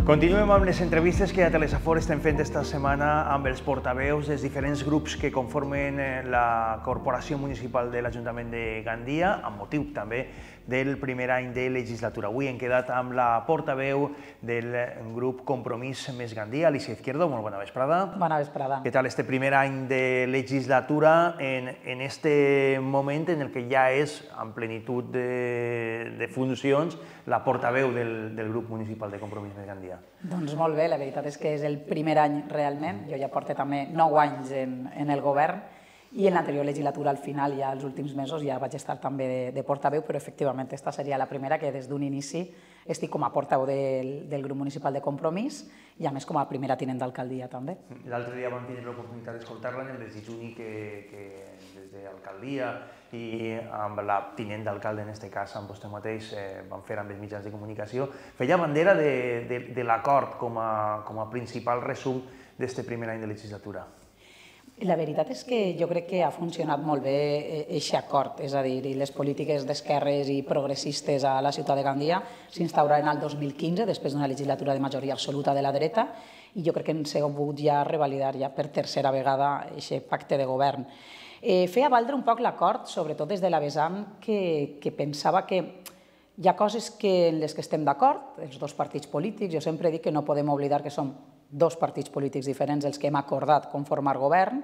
Continuem amb les entrevistes que a Telesafor estem fent esta setmana amb els portaveus dels diferents grups que conformen la Corporació Municipal de l'Ajuntament de Gandia, amb motiu també del primer any de legislatura. Avui hem quedat amb la portaveu del grup Compromís Més Gandia, Alicia Izquierdo. Molt bona vesprada. Bona vesprada. Què tal este primer any de legislatura en este moment en el que ja és en plenitud de funcions la portaveu del grup municipal de Compromís Més Gandia? Doncs molt bé, la veritat és que és el primer any realment. Jo ja porto també 9 anys en el govern i en l'anterior legislatura, al final, ja els últims mesos, ja vaig estar també de portaveu, però efectivament aquesta seria la primera que des d'un inici estic com a portaveu del grup municipal de Compromís i a més com a primera tinent d'alcaldia també. L'altre dia vam tenir l'oportunitat d'escoltar-la en el desitjuni que des d'alcaldia i amb la tinent d'alcalde, en aquest cas, amb vostè mateix, van fer amb els mitjans de comunicació, feia bandera de l'acord com a principal resum d'aquest primer any de legislatura. La veritat és que jo crec que ha funcionat molt bé aquest acord, és a dir, les polítiques d'esquerres i progressistes a la ciutat de Gandia s'instauraren el 2015, després d'una legislatura de majoria absoluta de la dreta, i jo crec que hem sigut ja revalidar ja per tercera vegada aquest pacte de govern. Feia valdre un poc l'acord, sobretot des de la vessant que pensava que hi ha coses en les que estem d'acord, els dos partits polítics. Jo sempre dic que no podem oblidar que som dos partits polítics diferents els que hem acordat conformar govern.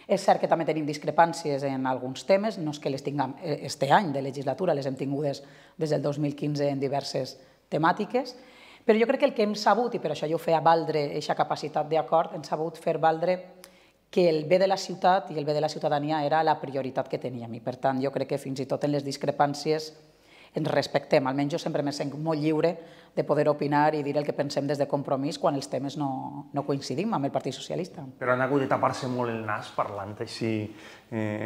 És cert que també tenim discrepàncies en alguns temes, no és que les tinguem este any de legislatura, les hem tingudes des del 2015 en diverses temàtiques, però jo crec que el que hem sabut, i per això jo feia valdre aquesta capacitat d'acord, hem sabut fer valdre que el bé de la ciutat i el bé de la ciutadania era la prioritat que teníem, i per tant jo crec que fins i tot en les discrepàncies ens respectem. Almenys jo sempre me sent molt lliure de poder opinar i dir el que pensem des de Compromís quan els temes no coincidim amb el Partit Socialista. Però han hagut de tapar-se molt el nas parlant així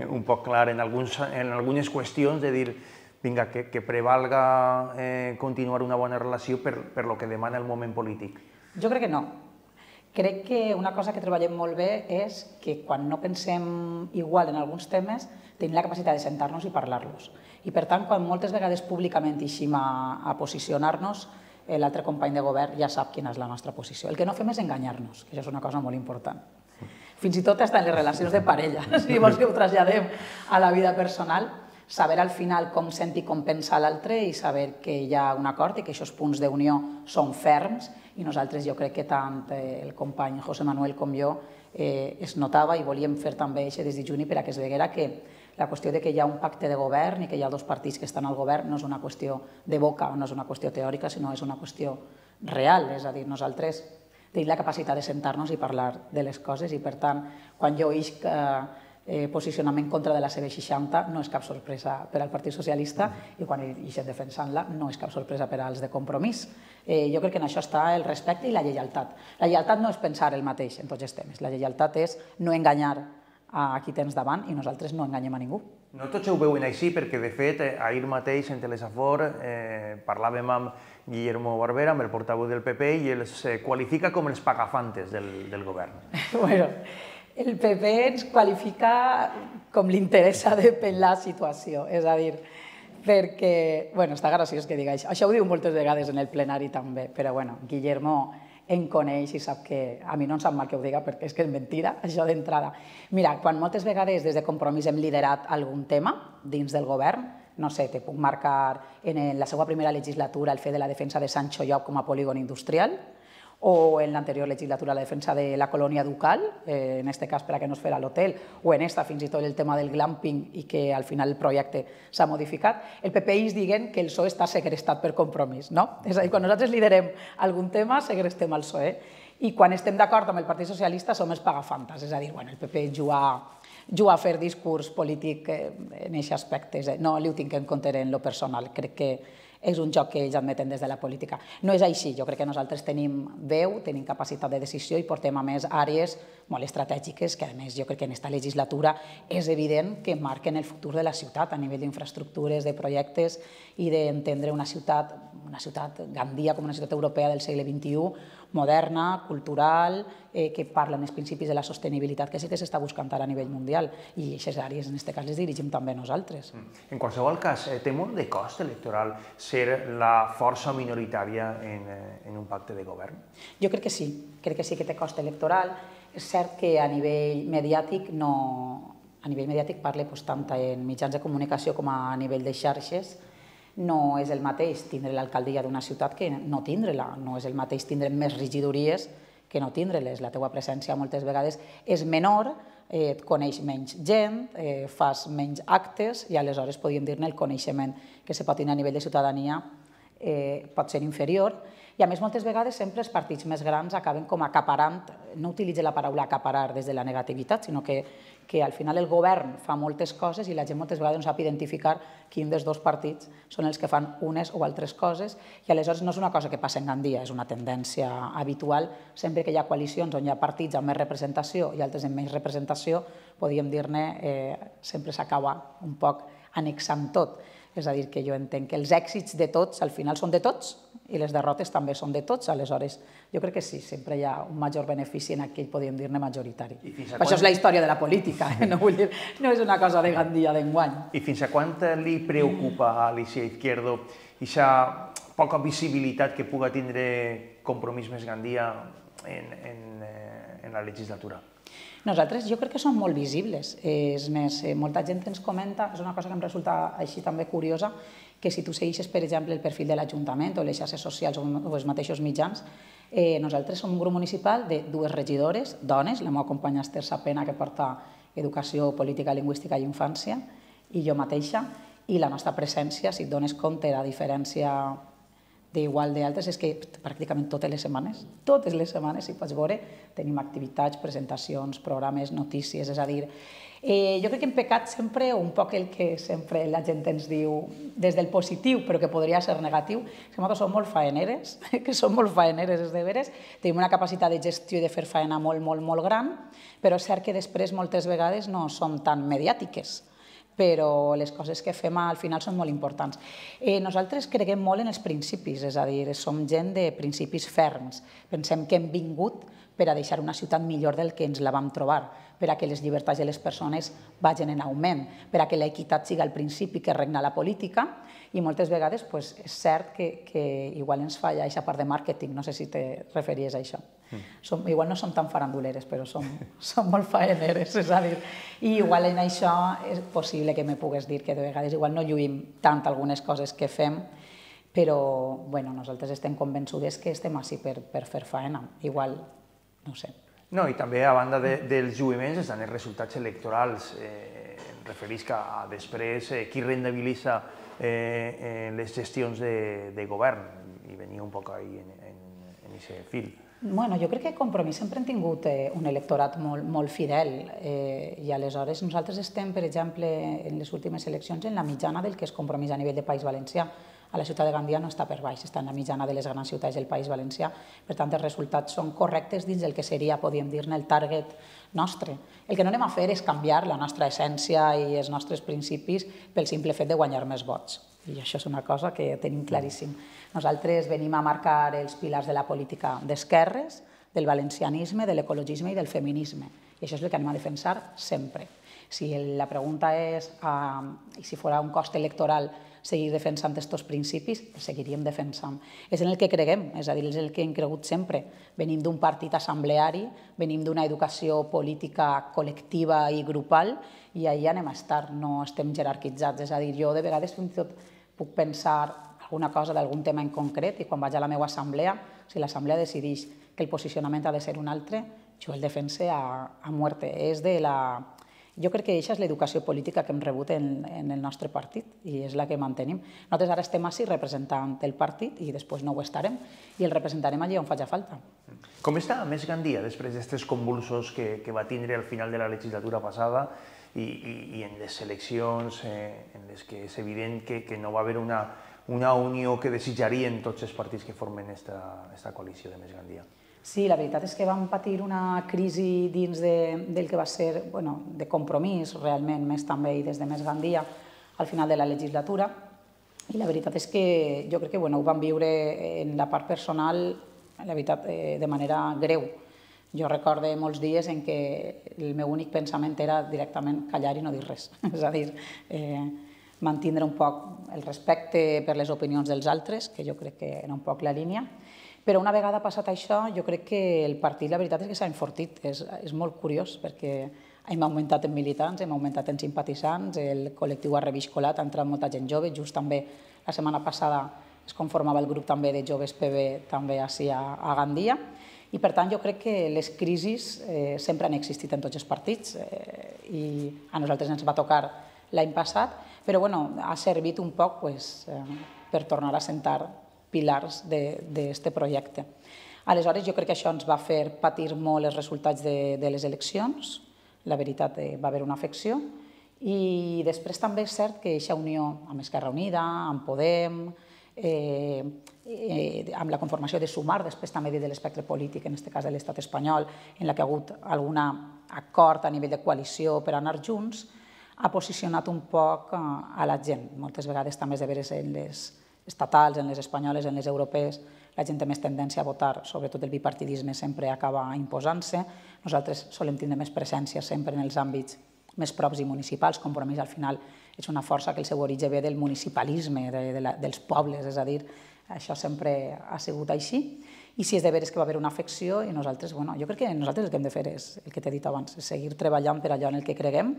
un poc clar en algunes qüestions, de dir vinga, que prevalga continuar una bona relació per lo que demana el moment polític. Jo crec que no. Crec que una cosa que treballem molt bé és que quan no pensem igual en alguns temes tenim la capacitat de sentar-nos i parlar-los. I per tant, quan moltes vegades públicament eixim a posicionar-nos, l'altre company de govern ja sap quina és la nostra posició. El que no fem és enganyar-nos, que això és una cosa molt important. Fins i tot en les relacions de parella, si vols que ho traslladem a la vida personal, saber al final com sent i com pensa l'altre i saber que hi ha un acord i que aquests punts d'unió són ferms, i nosaltres jo crec que tant el company José Manuel com jo es notava i volíem fer també aquest desitjuni per a que es veguera que la qüestió de que hi ha un pacte de govern i que hi ha dos partits que estan al govern no és una qüestió de boca o no és una qüestió teòrica, sinó és una qüestió real. És a dir, nosaltres tenim la capacitat de sentar-nos i parlar de les coses i, per tant, quan jo isc posicionament contra de la C60 no és cap sorpresa per al Partit Socialista i quan ixen defensant-la no és cap sorpresa per als de Compromís. Jo crec que en això està el respecte i la lleialtat. La lleialtat no és pensar el mateix en tots els temes, la lleialtat és no enganyar a qui tens davant i nosaltres no enganyem a ningú. No tots ho veuen així perquè, de fet, ahir mateix en Telesafor parlàvem amb Guillermo Barbera, amb el portaveu del PP, i els qualifica com els pagafantes del govern. Bueno, el PP ens qualifica com li interessa de la situació, és a dir, perquè, bueno, està graciós que diga això. Això ho diu moltes vegades en el plenari també, però bueno, Guillermo em coneix i sap que a mi no em sap mal que ho diga perquè és que és mentira, això d'entrada. Mira, quan moltes vegades des de Compromís hem liderat algun tema dins del govern, no sé, te puc marcar en la seva primera legislatura el fet de la defensa de Sancho Llop com a polígon industrial, o en l'anterior legislatura la defensa de la colònia ducal, en aquest cas per a que no es fera l'hotel, o en esta fins i tot el tema del glamping i que al final el projecte s'ha modificat, el PP diguen que el PSOE està segrestat per Compromís, no? És a dir, quan nosaltres liderem algun tema, segrestem el PSOE, i quan estem d'acord amb el Partit Socialista som els pagafantes, és a dir, el PP juga a fer discurs polític en aquest aspecte, no li ho tinc en compte en lo personal, crec que és un joc que ells admeten des de la política. No és així, jo crec que nosaltres tenim veu, tenim capacitat de decisió i portem a més àrees molt estratègiques que a més jo crec que en aquesta legislatura és evident que marquen el futur de la ciutat a nivell d'infraestructures, de projectes i d'entendre una ciutat Gandia com una ciutat europea del segle XXI moderna, cultural, que parla en els principis de la sostenibilitat, que sí que s'està buscant ara a nivell mundial, i aquestes àrees, en aquest cas, les dirigim també nosaltres. En qualsevol cas, té molt de cost electoral ser la força minoritària en un pacte de govern? Jo crec que sí que té cost electoral. És cert que a nivell mediàtic parle tant en mitjans de comunicació com a nivell de xarxes, no és el mateix tindre l'alcaldia d'una ciutat que no tindre-la, no és el mateix tindre més regidories que no tindre-les. La teua presència moltes vegades és menor, et coneix menys gent, fas menys actes i aleshores podríem dir-ne el coneixement que se pot tenir a nivell de ciutadania pot ser inferior. I a més, moltes vegades sempre els partits més grans acaben com acaparant, no utilitzo la paraula acaparar des de la negativitat, sinó que al final el govern fa moltes coses i la gent moltes vegades no sap identificar quin dels dos partits són els que fan unes o altres coses i aleshores no és una cosa que passa en Gandia, és una tendència habitual. Sempre que hi ha coalicions on hi ha partits amb més representació i altres amb menys representació, podríem dir-ne, sempre s'acaba un poc annexant tot. És a dir, que jo entenc que els èxits de tots al final són de tots i les derrotes també són de tots, aleshores jo crec que sí, sempre hi ha un major benefici en aquell, podríem dir-ne, majoritari. Això és la història de la política, no vull dir, no és una cosa de Gandia d'enguany. I fins a quant li preocupa a Alicia Izquierdo aquesta poca visibilitat que puga tindre Compromís més Gandia en la legislatura? Nosaltres jo crec que som molt visibles. És més, molta gent ens comenta, és una cosa que em resulta així també curiosa, que si tu segueixes, per exemple, el perfil de l'Ajuntament o les xarxes socials o els mateixos mitjans, nosaltres som un grup municipal de 2 regidores, dones, la meva companya Esther Sapena, que porta Educació, Política, Lingüística i Infància, i jo mateixa, i la nostra presència, si et dones compte, a diferència d'igual d'altres, és que pràcticament totes les setmanes, si pots veure, tenim activitats, presentacions, programes, notícies, és a dir, jo crec que hem pecat sempre un poc el que sempre la gent ens diu des del positiu, però que podria ser negatiu, que nosaltres som molt faeneres, és de veres, tenim una capacitat de gestió i de fer faena molt gran, però és cert que després moltes vegades no som tan mediàtiques, però les coses que fem al final són molt importants. Nosaltres creguem molt en els principis, és a dir, som gent de principis ferms. Pensem que hem vingut per a deixar una ciutat millor del que ens la vam trobar, per a que les llibertats de les persones vagin en augment, per a que l'equitat sigui el principi que regna la política, i moltes vegades és cert que igual ens falla aquesta part de màrqueting, no sé si te referies a això. Igual no som tan faranduleres, però som molt faeneres, és a dir, i igual en això és possible que me pugues dir que de vegades igual no lluïm tant algunes coses que fem, però nosaltres estem convençudes que estem així per fer faena, igual, no sé. No, i també a banda dels lluïments estan els resultats electorals. Em referisc a després qui rendibilitza les gestions de govern, i venia un poc ahí en aquest fil. Jo crec que Compromís sempre hem tingut un electorat molt fidel i aleshores nosaltres estem, per exemple, en les últimes eleccions en la mitjana del que és Compromís a nivell de País Valencià. A la ciutat de Gandia no està per baix, està en la mitjana de les grans ciutats del País Valencià, per tant els resultats són correctes dins del que seria, podríem dir-ne, el target nostre. El que no anem a fer és canviar la nostra essència i els nostres principis pel simple fet de guanyar més vots. I això és una cosa que tenim claríssim. Nosaltres venim a marcar els pilars de la política d'esquerres, del valencianisme, de l'ecologisme i del feminisme. I això és el que anem a defensar sempre. Si la pregunta és si fos un cost electoral seguir defensant aquests principis, els seguiríem defensant. És en el que creguem, és a dir, és el que hem cregut sempre. Venim d'un partit assembleari, venim d'una educació política col·lectiva i grupal, i ahir anem a estar, no estem jerarquitzats. És a dir, jo de vegades fins i tot puc pensar alguna cosa d'algun tema en concret i quan vaig a la meva assemblea, si l'assemblea decideix que el posicionament ha de ser un altre, jo el defense a muerte. Jo crec que aquesta és l'educació política que hem rebut en el nostre partit i és la que mantenim. Nosaltres ara estem així representant el partit i després no ho estarem i el representarem allí on faci falta. Com està més Gandia després d'aquests convulsos que va tindre al final de la legislatura passada i en les eleccions en les que és evident que no va haver una unió que desitjarien tots els partits que formen aquesta coalició de Més Gandia? Sí, la veritat és que vam patir una crisi dins del que va ser de Compromís, realment, més també i des de Més Gandia, al final de la legislatura. I la veritat és que jo crec que ho vam viure en la part personal la veritat, de manera greu. Jo recordo molts dies en què el meu únic pensament era directament callar i no dir res. És a dir, mantindre un poc el respecte per les opinions dels altres, que jo crec que era un poc la línia. Però una vegada passat això, jo crec que el partit, la veritat és que s'ha enfortit. És molt curiós, perquè hem augmentat en militants, hem augmentat en simpatitzants, el col·lectiu ha reviscolat, ha entrat molta gent jove. Just també la setmana passada es conformava el grup també de joves PB també així a Gandia. I per tant jo crec que les crisis sempre han existit en tots els partits i a nosaltres ens va tocar l'any passat, però ha servit un poc per tornar a sentar pilars d'aquest projecte. Aleshores jo crec que això ens va fer patir molt els resultats de les eleccions, la veritat va haver una afecció, i després també és cert que aquesta unió amb Esquerra Unida, amb Podem, amb la conformació de Sumar, després també de l'espectre polític, en aquest cas de l'estat espanyol, en la que ha hagut algun acord a nivell de coalició per anar junts, ha posicionat un poc a la gent. Moltes vegades també és de veres en les estatals, en les espanyoles, en les europees, la gent té més tendència a votar, sobretot el bipartidisme sempre acaba imposant-se. Nosaltres solem tindre més presència sempre en els àmbits més props i municipals. Compromís al final és una força que el seu origen ve del municipalisme, dels pobles, és a dir, això sempre ha sigut així. I si és de veres que va haver una afecció, i nosaltres, jo crec que nosaltres el que hem de fer és, el que t'he dit abans, seguir treballant per allò en el que creguem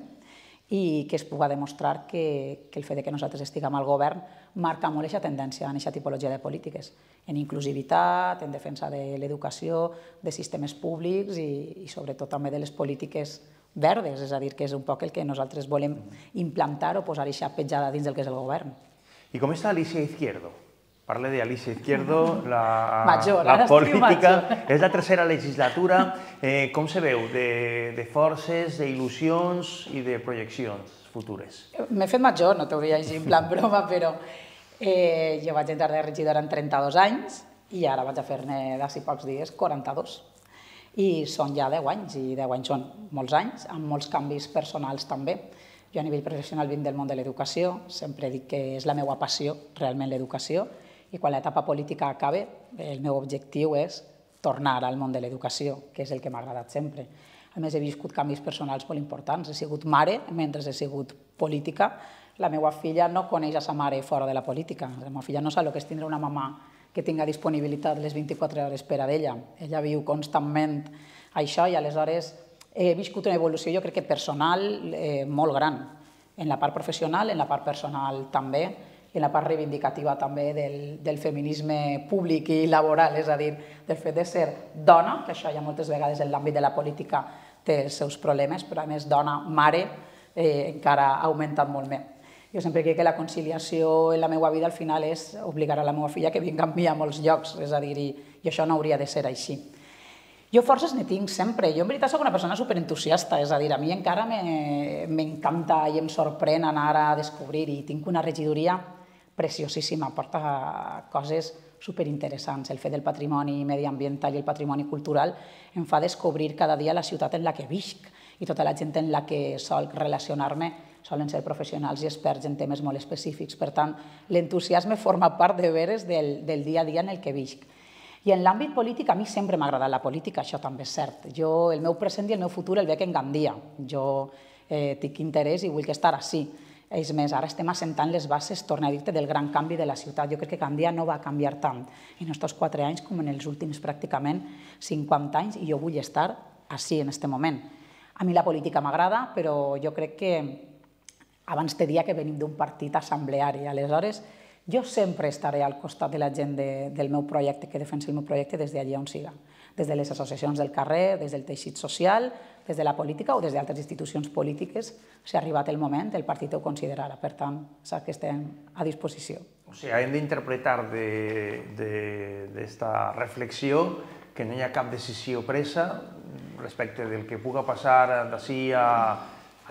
i que es pugui demostrar que el fet que nosaltres estiguem al govern marca molt aquesta tendència en aquesta tipologia de polítiques, en inclusivitat, en defensa de l'educació, de sistemes públics i sobretot també de les polítiques verdes, és a dir, que és un poc el que nosaltres volem implantar o posar aquesta petjada dins del que és el govern. I com està Alicia Izquierdo? Parle de Alicia Izquierdo, la política, és la tercera legislatura. Com se veu de forces, d'il·lusions i de projeccions futures? M'he fet major, no t'hauria dit en plan broma, però jo vaig entrar de regidora en 32 anys i ara vaig a fer-ne d'ací pocs dies 42. I són ja 10 anys, i 10 anys són molts anys, amb molts canvis personals també. Jo a nivell professional vinc del món de l'educació, sempre dic que és la meva passió, realment l'educació, i quan l'etapa política acabe, el meu objectiu és tornar al món de l'educació, que és el que m'ha agradat sempre. A més, he viscut canvis personals molt importants. He sigut mare mentre he sigut política. La meva filla no coneix a sa mare fora de la política. La meva filla no sap el que és tindre una mamà que tinga disponibilitat les 24 hores per a ella. Ella viu constantment això i aleshores he viscut una evolució, jo crec que personal, molt gran. En la part professional, en la part personal també, i en la part reivindicativa també del feminisme públic i laboral, és a dir, del fet de ser dona, que això ja moltes vegades en l'àmbit de la política té els seus problemes, però a més dona, mare, encara ha augmentat molt més. Jo sempre crec que la conciliació en la meva vida al final és obligar a la meva filla que vingui amb mi a molts llocs, és a dir, i això no hauria de ser així. Jo forces ne tinc sempre. Jo en veritat soc una persona superentusiasta, és a dir, a mi encara m'encanta i em sorprèn anar a descobrir i tinc una regidoria preciosíssima, porta coses superinteressants. El fet del patrimoni mediambiental i el patrimoni cultural em fa descobrir cada dia la ciutat en la que visc i tota la gent en la que sol relacionar-me solen ser professionals i experts en temes molt específics. Per tant, l'entusiasme forma part de veres del dia a dia en el que visc. I en l'àmbit polític, a mi sempre m'ha agradat la política, això també és cert. Jo, el meu present i el meu futur el veig en Gandia. Jo tinc interès i vull estar així. És més, ara estem assentant les bases, torno a dir-te, del gran canvi de la ciutat. Jo crec que Gandia no va canviar tant en aquests 4 anys com en els últims pràcticament 50 anys i jo vull estar així en aquest moment. A mi la política m'agrada, però jo crec que abans te dia que venim d'un partit assembleari. Aleshores, jo sempre estaré al costat de la gent del meu projecte, que defensi el meu projecte des d'allà on siga. Des de les associacions del carrer, des del teixit social, des de la política o des d'altres institucions polítiques, si ha arribat el moment, el partit ho considerarà. Per tant, sap que estem a disposició. O sigui, hem d'interpretar d'esta reflexió que no hi ha cap decisió presa respecte del que puga passar d'ací a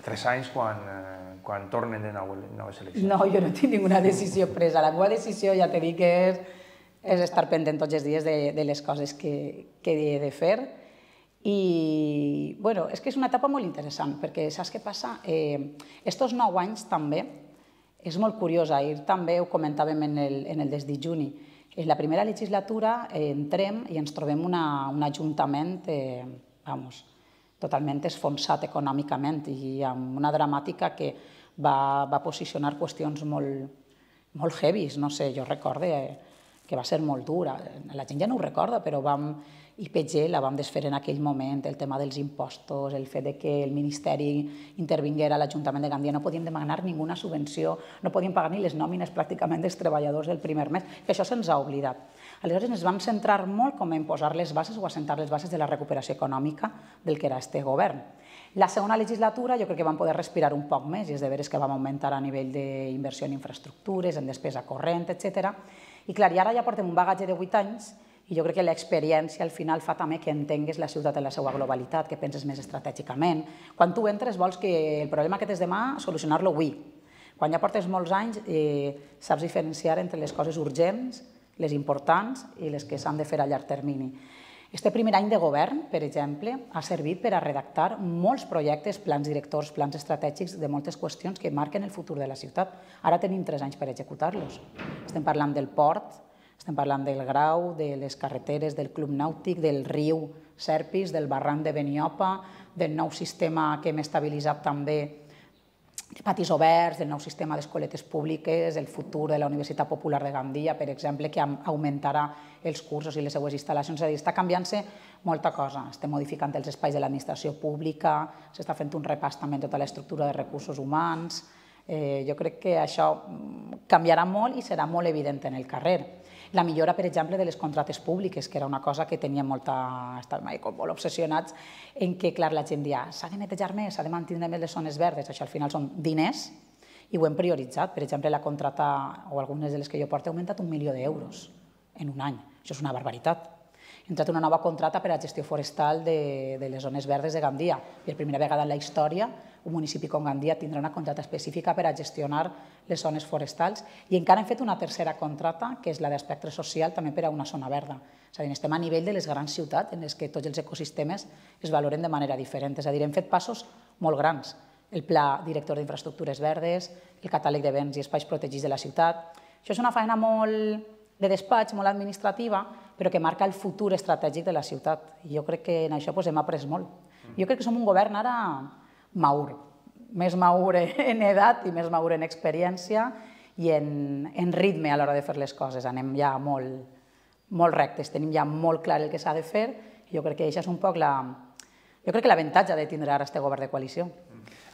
3 anys quan tornen de nou noves eleccions. No, jo no tinc ninguna decisió presa. La meva decisió, ja t'he dit que és estar pendent tots els dies de les coses que he de fer. I, bueno, és que és una etapa molt interessant, perquè saps què passa? Estos 9 anys també és molt curiós. Ahir també ho comentàvem en el desdijuni. En la primera legislatura entrem i ens trobem un ajuntament totalment esfonsat econòmicament i amb una dramàtica que va posicionar qüestions molt heavies. No sé, jo recordo que va ser molt dura. La gent ja no ho recorda, però IPG la vam desfer en aquell moment, el tema dels impostos, el fet que el Ministeri intervinguera a l'Ajuntament de Gandia, no podíem demanar ninguna subvenció, no podíem pagar ni les nòmines pràcticament dels treballadors del primer mes, que això se'ns ha oblidat. Aleshores ens vam centrar molt com en posar les bases o assentar les bases de la recuperació econòmica del que era este govern. La segona legislatura jo crec que vam poder respirar un poc més i és de veres que vam augmentar a nivell d'inversió en infraestructures, en despesa corrent, etc. I clar, i ara ja portem un bagatge de 8 anys i jo crec que l'experiència al final fa també que entengues la ciutat en la seva globalitat, que penses més estratègicament. Quan tu entres vols que el problema que tens demà solucionar-lo avui. Quan ja portes molts anys saps diferenciar entre les coses urgents, les importants i les que s'han de fer a llarg termini. Este primer any de govern, per exemple, ha servit per a redactar molts projectes, plans directors, plans estratègics de moltes qüestions que marquen el futur de la ciutat. Ara tenim 3 anys per executar-los. Estem parlant del port, estem parlant del Grau, de les carreteres, del club nàutic, del riu Serpis, del barranc de Beniopa, del nou sistema que hem estabilitzat també de patis oberts, del nou sistema d'escoletes públiques, el futur de la Universitat Popular de Gandia, per exemple, que augmentarà els cursos i les seues instal·lacions. És a dir, està canviant-se molta cosa. Estem modificant els espais de l'administració pública, s'està fent un repàs també en tota l'estructura de recursos humans. Jo crec que això canviarà molt i serà molt evident en el carrer. La millora, per exemple, de les contractes públiques, que era una cosa que teníem molt obsessionats en què, clar, la gent dia s'ha de netejar més, s'ha de mantenir més les zones verdes. Això al final són diners i ho hem prioritzat. Per exemple, la contracta, o algunes de les que jo porto, ha augmentat 1 milió d'euros en un any. Això és una barbaritat. Ha entrat una nova contracta per a gestió forestal de les zones verdes de Gandia. Per primera vegada en la història, un municipi com Gandia tindrà una contracta específica per a gestionar les zones forestals i encara hem fet una tercera contracta, que és la d'espectre social, també per a una zona verda. És a dir, estem a nivell de les grans ciutats en les que tots els ecosistemes es valoren de manera diferent. És a dir, hem fet passos molt grans. El Pla Director d'Infraestructures Verdes, el catàleg de béns i espais protegits de la ciutat. Això és una feina molt de despatx, molt administrativa, però que marca el futur estratègic de la ciutat. I jo crec que en això hem après molt. Jo crec que som un govern ara maur, més maur en edat i més maur en experiència i en ritme a l'hora de fer les coses. Anem ja molt rectes, tenim ja molt clar el que s'ha de fer i jo crec que això és un poc l'avantatge de tindre ara aquest govern de coalició.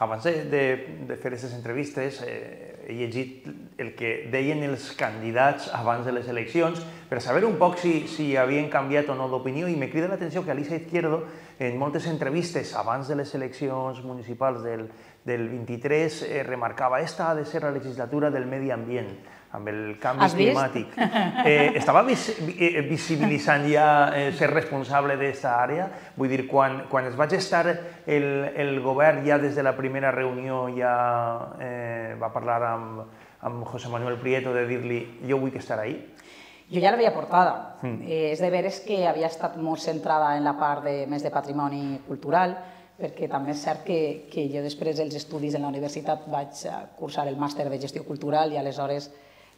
Abans de fer aquestes entrevistes he llegit el que deien els candidats abans de les eleccions per saber un poc si havien canviat o no d'opinió i me crida l'atenció que Alicia Izquierdo en moltes entrevistes abans de les eleccions municipals del 23 remarcava esta ha de ser la legislatura del medi ambient, amb el canvi climàtic. Estava visibilitzant ja ser responsable d'aquesta àrea? Vull dir, quan es va gestar el govern, ja des de la primera reunió ja va parlar amb José Manuel Prieto de dir-li jo vull estar ahí? Jo ja l'havia portada. És de veres que havia estat molt centrada en la part més de patrimoni cultural, perquè també és cert que jo després dels estudis en la universitat vaig cursar el màster de gestió cultural i aleshores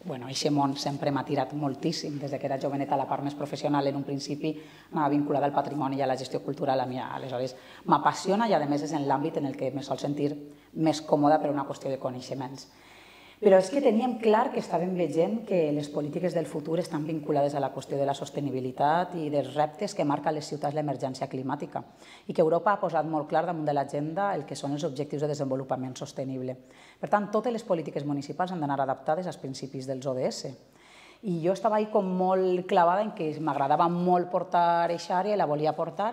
aquest món sempre m'ha tirat moltíssim. Des que era joveneta, la part més professional en un principi anava vinculada al patrimoni i a la gestió cultural a mi. Aleshores m'apassiona i a més és en l'àmbit en el que me sol sentir més còmoda per una qüestió de coneixements. Però és que teníem clar que estàvem veient que les polítiques del futur estan vinculades a la qüestió de la sostenibilitat i dels reptes que marca a les ciutats l'emergència climàtica i que Europa ha posat molt clar damunt de l'agenda el que són els objectius de desenvolupament sostenible. Per tant, totes les polítiques municipals han d'anar adaptades als principis dels ODS. I jo estava com molt clavada en que m'agradava molt portar aquesta àrea i la volia portar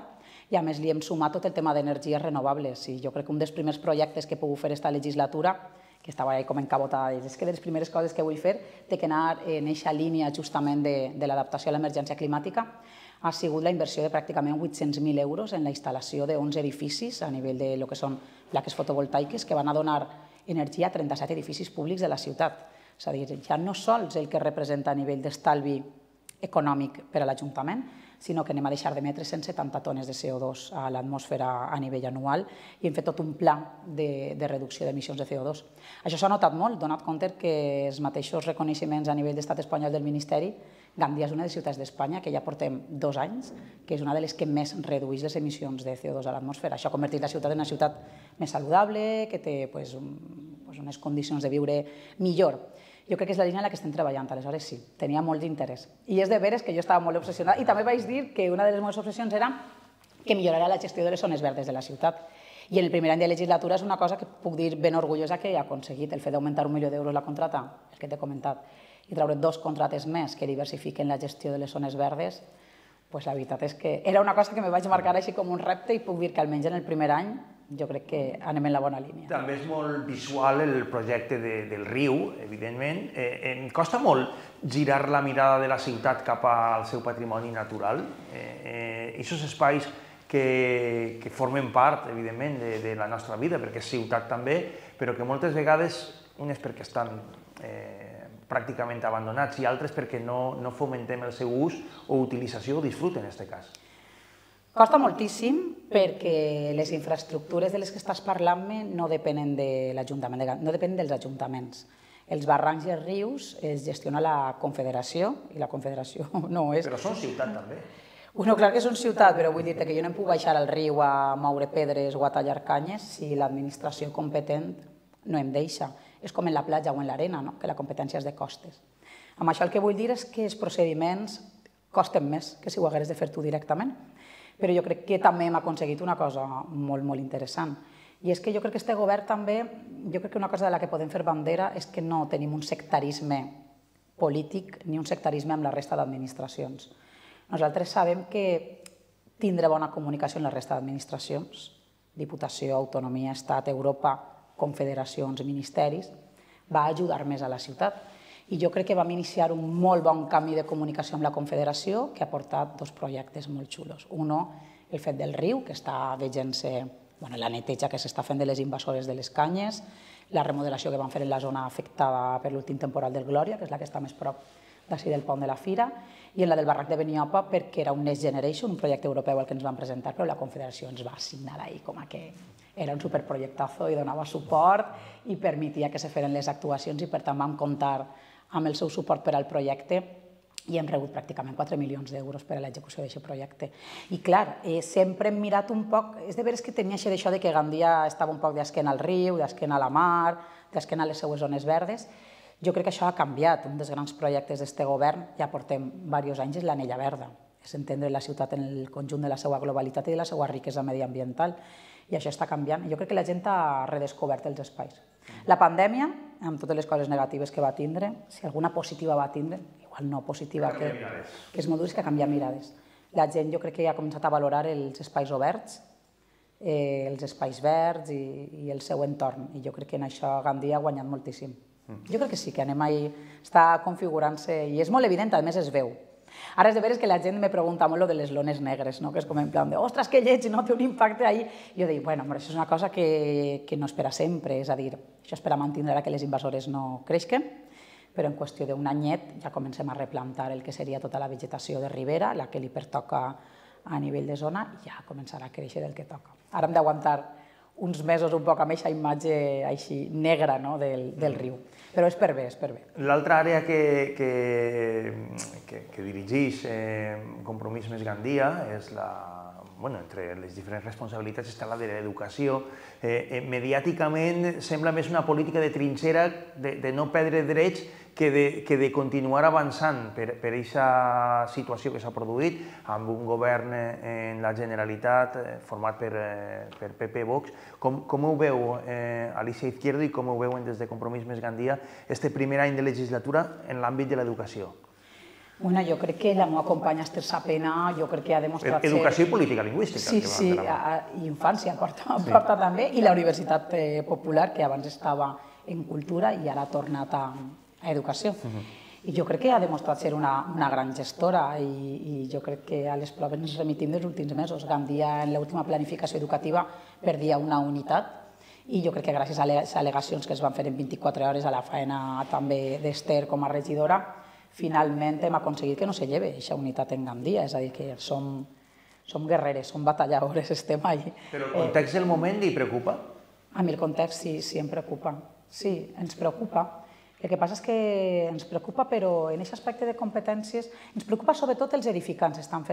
i a més li hem sumat tot el tema d'energies renovables. I jo crec que un dels primers projectes que he pogut fer aquesta legislatura que estava com encabotada, és que de les primeres coses que vull fer té que anar en aquesta línia justament de l'adaptació a l'emergència climàtica ha sigut la inversió de pràcticament 800.000 euros en la instal·lació de 11 edificis a nivell de lo que són plaques fotovoltaiques que van a donar energia a 37 edificis públics de la ciutat. És a dir, ja no sols el que representa a nivell d'estalvi econòmic per a l'Ajuntament, sinó que anem a deixar d'emetre 170 tones de CO2 a l'atmosfera a nivell anual i hem fet tot un pla de reducció d'emissions de CO2. Això s'ha notat molt, donat compte que els mateixos reconeixements a nivell d'estat espanyol del Ministeri Gandia és una de les ciutats d'Espanya que ja portem 2 anys, que és una de les que més redueix les emissions de CO2 a l'atmosfera. Això ha convertit la ciutat en una ciutat més saludable, que té unes condicions de viure millor. Jo crec que és la línia en la que estem treballant, aleshores sí, tenia molt d'interès. I és de veres que jo estava molt obsessionada i també vaig dir que una de les meves obsessions era que millorarà la gestió de les zones verdes de la ciutat. I en el primer any de legislatura és una cosa que puc dir ben orgullosa que he aconseguit, el fet d'augmentar 1 milió d'euros la contrata, el que t'he comentat, i treure 2 contrates més que diversifiquen la gestió de les zones verdes, doncs la veritat és que era una cosa que me vaig marcar així com un repte i puc dir que almenys en el primer any jo crec que anem en la bona línia. També és molt visual el projecte del riu, evidentment. Em costa molt girar la mirada de la ciutat cap al seu patrimoni natural. Aquests espais que formen part, evidentment, de la nostra vida, perquè és ciutat també, però que moltes vegades, unes perquè estan pràcticament abandonats i altres perquè no fomentem el seu ús o utilització o disfrute, en aquest cas. Costa moltíssim perquè les infraestructures de les que estàs parlant-me no depenen de l'Ajuntament, no depenen dels ajuntaments. Els barrancs i els rius es gestiona la Confederació i la Confederació no és... Però són ciutat també. Bueno, clar que són ciutat, però vull dir-te que jo no em puc baixar al riu a moure pedres o a tallar canyes si l'administració competent no em deixa. És com en la platja o en l'arena, que la competència és de costes. Amb això el que vull dir és que els procediments costen més que si ho hagués de fer tu directament. Però jo crec que també hem aconseguit una cosa molt, molt interessant. I és que jo crec que este govern també, jo crec que una cosa de la que podem fer bandera és que no tenim un sectarisme polític ni un sectarisme amb la resta d'administracions. Nosaltres sabem que tindre bona comunicació amb la resta d'administracions, Diputació, Autonomia, Estat, Europa, confederacions, ministeris, va ajudar més a la ciutat. I jo crec que vam iniciar un molt bon camí de comunicació amb la Confederació que ha portat 2 projectes molt xulos. Un, el fet del riu, que està veient-se la neteja que s'està fent de les invasores de les canyes, la remodelació que van fer en la zona afectada per l'últim temporal del Glòria, que és la que està més prop d'ací del pont de la Fira, i en la del barranc de Beniopa perquè era un Next Generation, un projecte europeu al que ens van presentar, però la Confederació ens va assignar ahí com a que era un superprojectazo i donava suport i permetia que se feren les actuacions i per tant vam comptar amb el seu suport per al projecte i hem rebut pràcticament 4 milions d'euros per a l'execució d'aquest projecte. I clar, sempre hem mirat un poc, és de veres que tenia això de que Gandia estava un poc d'esquena al riu, d'esquena a la mar, d'esquena a les seues zones verdes. Jo crec que això ha canviat. Un dels grans projectes d'aquest govern, ja portem diversos anys, és l'Anella Verda. És entendre la ciutat en el conjunt de la seva globalitat i de la seva riquesa mediambiental. I això està canviant. Jo crec que la gent ha redescobert els espais. La pandèmia, amb totes les coses negatives que va tindre, si alguna positiva va tindre, igual no positiva, que és molt dur, és que ha canviat mirades. La gent jo crec que ja ha començat a valorar els espais oberts, els espais verds i el seu entorn. I jo crec que en això Gandia ha guanyat moltíssim. Jo crec que sí, que anem ahí, està configurant-se i és molt evident, a més es veu. Ara és de veres que la gent me pregunta molt de les lones negres, que és com en plan de ostres, que lleig, no té un impacte ahí. Jo dic, bueno, això és una cosa que no és per a sempre, és a dir, això és per a mantenir que les invasores no creixen, però en qüestió d'un anyet ja comencem a replantar el que seria tota la vegetació de ribera, la que li pertoca a nivell de zona, i ja començarà a créixer del que toca. Ara hem d'aguantar uns mesos un poc amb aquesta imatge així negra del riu. Però és per bé, és per bé. L'altra àrea que dirigeix Compromís Més Gandia és entre les diferents responsabilitats està la de l'educació. Mediàticament sembla més una política de trinxera, de no perdre drets, que de continuar avançant per aquesta situació que s'ha produït amb un govern en la Generalitat format per PP Vox. Com ho veu Alicia Izquierdo i com ho veuen des de Compromís Més Gandia este primer any de legislatura en l'àmbit de l'educació? Bueno, jo crec que la meva companya Esther Sapena, jo crec que ha demostrat ser... Educació i política lingüística. Sí, i infància porta també, i la Universitat Popular, que abans estava en cultura i ara ha tornat a educació. I jo crec que ha demostrat ser una gran gestora i jo crec que a les proves ens remitim dels últims mesos. Gandia, en l'última planificació educativa, perdia una unitat i jo crec que gràcies a les al·legacions que es van fer en 24 hores, a la feina també d'Esther com a regidora, finalment hem aconseguit que no se lleve aquesta unitat en Gandia, és a dir, que som guerreres, som batalladores, estem allà. Però el context del moment li preocupa? A mi el context sí em preocupa, sí, ens preocupa, El que passa és que ens preocupa, però en aquest aspecte de competències, ens preocupa sobretot els edificants, estan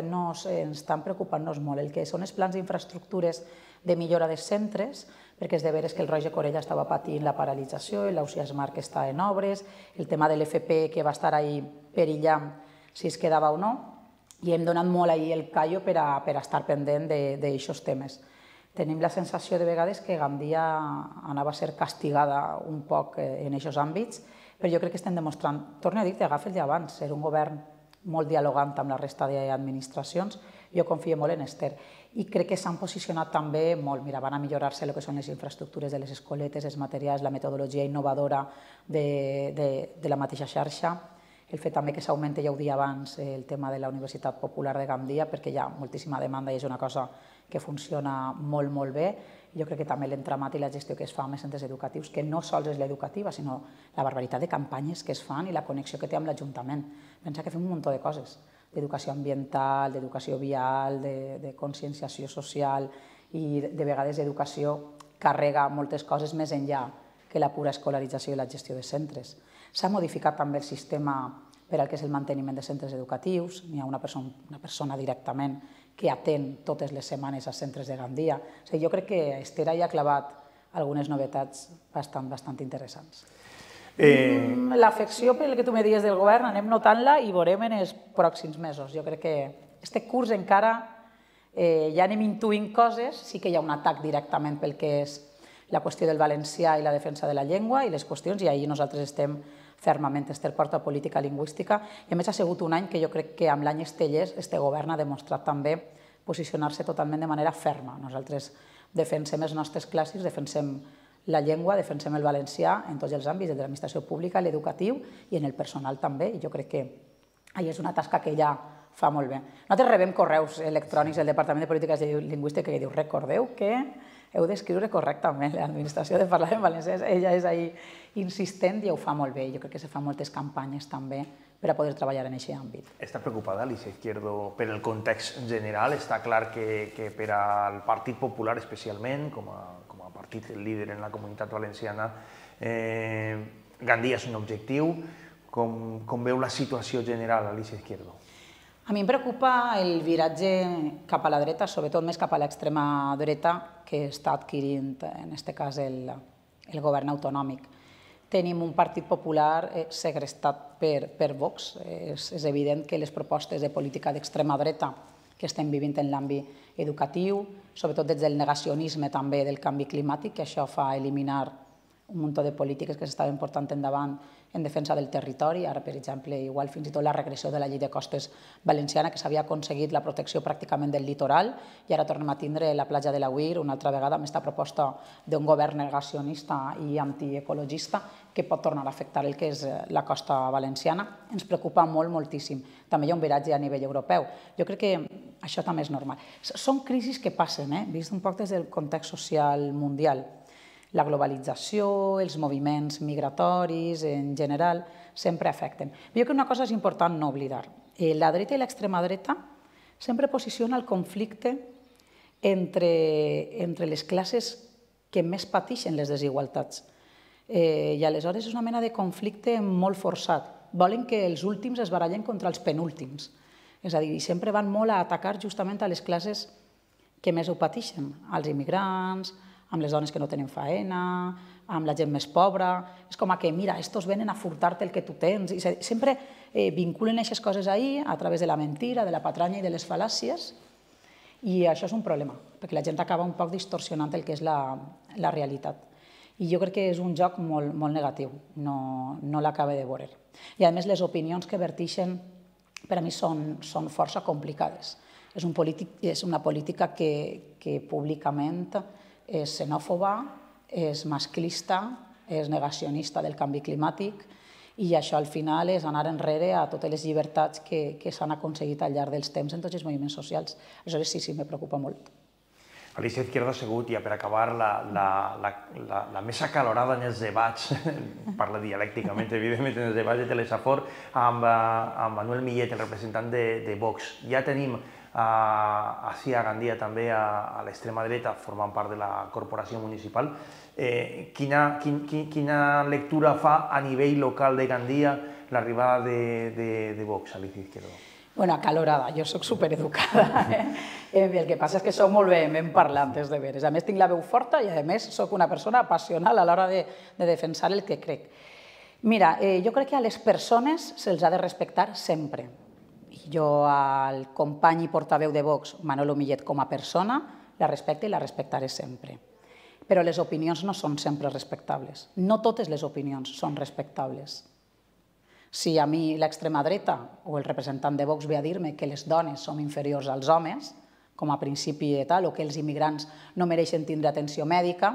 preocupant-nos molt, el que són els plans d'infraestructures de millora dels centres, perquè és de veres que el Roig de Corella estava patint la paralització, l'Ausiàs Marc està en obres, el tema de l'FP que va estar ahí perillant si es quedava o no, i hem donat molt ahir el callo per a estar pendent d'aixòs temes. Tenim la sensació de vegades que Gandia anava a ser castigada un poc en aquests àmbits, però jo crec que estem demostrant, torno a dir, agafa el d'abans, ser un govern molt dialogant amb la resta d'administracions, jo confio molt en Esther. I crec que s'han posicionat també molt, mira, van a millorar-se el que són les infraestructures de les escoletes, els materials, la metodologia innovadora de la mateixa xarxa, el fet també que s'augmenta, ja ho dia abans, el tema de la Universitat Popular de Gandia, perquè hi ha moltíssima demanda i és una cosa que funciona molt, molt bé. Jo crec que també l'entramat i la gestió que es fa amb els centres educatius, que no sols és l'educativa, sinó la barbaritat de campanyes que es fan i la connexió que té amb l'Ajuntament. Pensa que fem un munt de coses, d'educació ambiental, d'educació vial, de conscienciació social i de vegades educació carrega moltes coses més enllà que la pura escolarització i la gestió de centres. S'ha modificat també el sistema per al que és el manteniment de centres educatius, n'hi ha una persona directament que atén totes les setmanes als centres de Gandia. Jo crec que Esther hi ha clavat algunes novetats bastant interessants. L'afecció pel que tu me dies del govern anem notant-la i veurem en els pròxims mesos. Jo crec que aquest curs encara ja anem intuint coses, sí que hi ha un atac directament pel que és la qüestió del valencià i la defensa de la llengua i les qüestions, i ahir nosaltres estem fermament. Esther porta política lingüística i a més ha sigut un any que jo crec que amb l'any Estellers este govern ha demostrat també posicionar-se totalment de manera ferma. Nosaltres defensem els nostres clàssics, defensem la llengua, defensem el valencià en tots els àmbits, de l'administració pública, l'educatiu i en el personal també, i jo crec que ahir és una tasca que ella fa molt bé. Nosaltres rebem correus electrònics del Departament de Polítiques Lingüístiques que diu recordeu que heu d'escriure correctament l'administració de parlar en valencià. Ella és ahí insistent i ho fa molt bé. Jo crec que se fan moltes campanyes també per a poder treballar en aquest àmbit. Està preocupada Alicia Izquierdo per el context general? Està clar que per al Partit Popular especialment, com a partit líder en la comunitat valenciana, Gandia és un objectiu. Com veu la situació general, Alicia Izquierdo? A mi em preocupa el viratge cap a la dreta, sobretot més cap a l'extrema dreta, que està adquirint, en aquest cas, el govern autonòmic. Tenim un Partit Popular segrestat per Vox. És evident que les propostes de política d'extrema dreta que estem vivint en l'àmbit educatiu, sobretot des del negacionisme també del canvi climàtic, que això fa eliminar un munt de polítiques que s'estaven portant endavant en defensa del territori. Ara, per exemple, igual fins i tot la regressió de la llei de costes valenciana, que s'havia aconseguit la protecció pràcticament del litoral, i ara tornem a tindre la platja de l'Auir una altra vegada amb aquesta proposta d'un govern negacionista i antiecologista que pot tornar a afectar el que és la costa valenciana. Ens preocupa moltíssim. També hi ha un viratge a nivell europeu. Jo crec que això també és normal. Són crisis que passen, vist un poc des del context social mundial. La globalització, els moviments migratoris, en general, sempre afecten. Jo crec que una cosa és important no oblidar. La dreta i l'extrema dreta sempre posiciona el conflicte entre les classes que més pateixen les desigualtats. I aleshores és una mena de conflicte molt forçat. Volen que els últims es barallen contra els penúltims. És a dir, sempre van molt a atacar justament a les classes que més ho pateixen, als immigrants, amb les dones que no tenen faena, amb la gent més pobra. És com que, mira, estos venen a furtar-te el que tu tens. I sempre vinculen aquestes coses ahí a través de la mentira, de la patranya i de les fal·làcies, i això és un problema, perquè la gent acaba un poc distorsionant el que és la realitat. I jo crec que és un joc molt negatiu, no l'acaba de veure. I a més les opinions que verteixen per a mi són força complicades. És una política que públicament és xenòfoba, és masclista, és negacionista del canvi climàtic, i això al final és anar enrere a totes les llibertats que s'han aconseguit al llarg dels temps en tots els moviments socials. Aleshores sí, me preocupa molt. Alicia Izquierdo ha sigut, i per acabar, la més acalorada en els debats, parla dialècticament, evidentment, en els debats de Telesafor, amb Manuel Millet, el representant de Vox. Ja tenim ací a Gandia també a l'extrema dreta, formant part de la corporació municipal. Quina lectura fa a nivell local de Gandia l'arribada de Vox, Alicia Izquierdo? Bueno, acalorada, jo soc supereducada. El que passa és que soc molt vehement parlantes de veres. A més, tinc la veu forta i, a més, soc una persona apassional a l'hora de defensar el que crec. Mira, jo crec que a les persones se'ls ha de respectar sempre. Jo al company i portaveu de Vox, Manolo Millet, com a persona, la respecte i la respectaré sempre. Però les opinions no són sempre respectables. No totes les opinions són respectables. Si a mi l'extrema dreta o el representant de Vox ve a dir-me que les dones som inferiors als homes, com a principi de tal, o que els immigrants no mereixen tindre atenció mèdica,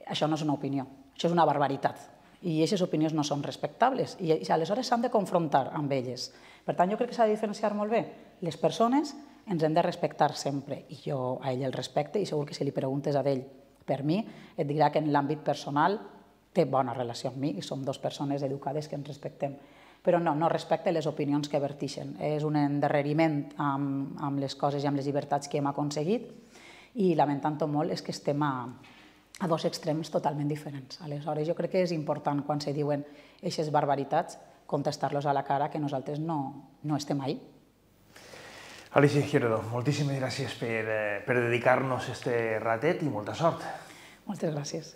això no és una opinió, això és una barbaritat. I aquestes opinions no són respectables i aleshores s'han de confrontar amb elles. Per tant, jo crec que s'ha de diferenciar molt bé. Les persones ens hem de respectar sempre i jo a ell el respecte i segur que si li preguntes a ell per mi et dirà que en l'àmbit personal té bona relació amb mi i som dues persones educades que ens respectem. Però no respecte les opinions que vertixen. És un endarreriment amb les coses i amb les llibertats que hem aconseguit i lamentant-ho molt és que estem a dos extrems totalment diferents. Aleshores, jo crec que és important quan se diuen aquestes barbaritats contestar-los a la cara que nosaltres no estem ahí. Alicia Izquierdo, moltíssimes gràcies per dedicar-nos este ratet i molta sort. Moltes gràcies.